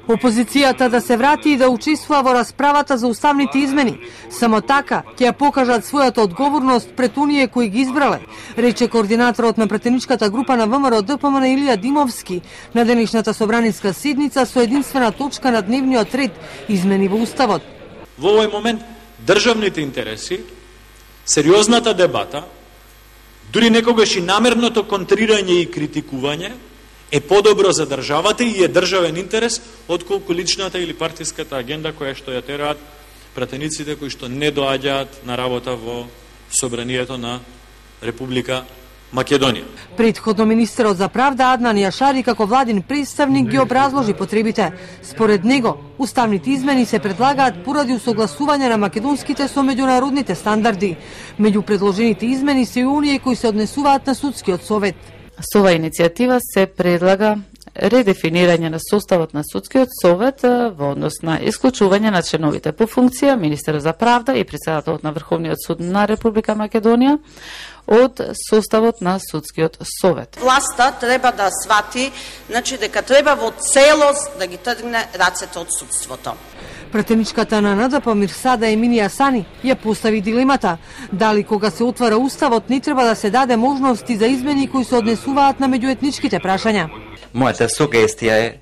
Опозицијата да се врати и да учествува во расправата за уставните измени. Само така ќе ја покажат својата одговорност пред оние кои ги избрале, рече координаторот на претеничката група на ВМРО ДПМН Илија Димовски на денешната собраниска седница со единствена точка на дневниот ред измени во уставот. Во овој момент државните интереси, сериозната дебата, дури некогаш и намерното контрирање и критикување е подобро за државата и е државен интерес отколку личната или партиската агенда која што ја тераат пратениците кои што не доаѓаат на работа во собранието на Република Македонија. Претходно министерот за правда Аднан Јашари како владин представник ги образложи потребите. Според него, уставните измени се предлагаат поради усогласување на македонските со меѓународните стандарди. Меѓу предложените измени се и оние кои се однесуваат на судскиот совет. Со оваа иницијатива се предлага редефинирање на составот на судскиот совет во однос на исклучување на членовите по функција, министерот за правда и претседателот на Врховниот суд на Република Македонија од составот на судскиот совет. Власта треба да свати, дека треба во целост да ги тргне рацете од судството. Претеничката на НДП Мирсада Еминија Сани ја постави дилемата дали кога се отвара уставот не треба да се даде можности за измени кои се однесуваат на меѓуетничките прашања. Мојата сугестија е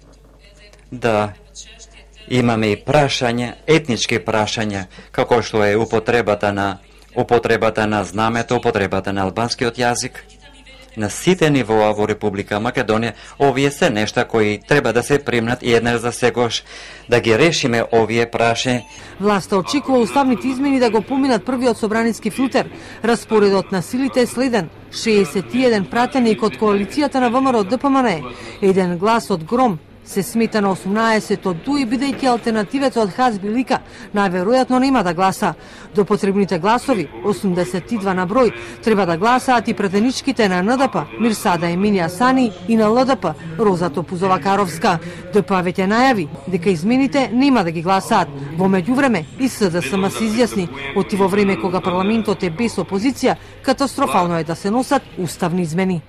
да имаме и прашања, етнички прашања, како што е употребата на знамето, употребата на албанскиот јазик. На сите нивоа во Република Македонија, овие се нешта кои треба да се примнат и еднаш за секогаш да ги решиме овие прашања. Власта очекува уставните измени да го поминат првиот собраниски филтер. Распоредот на силите е следен: 61 пратеник од коалицијата на ВМРО ДПМН, еден глас од Гром, се смета на 18 од ДУИ, бидејќи алтернативата од Хазби Лика најверојатно нема да гласа. До потребните гласови, 82 на број, треба да гласаат и претеничките на НДП Мирсада Еминија Сани и на ЛДП Роза Топузова Каровска. ДП веќе најави дека измените нема да ги гласаат. Во меѓувреме и СДСМ се изјасни, оти во време кога парламентот е без опозиција, катастрофално е да се носат уставни измени.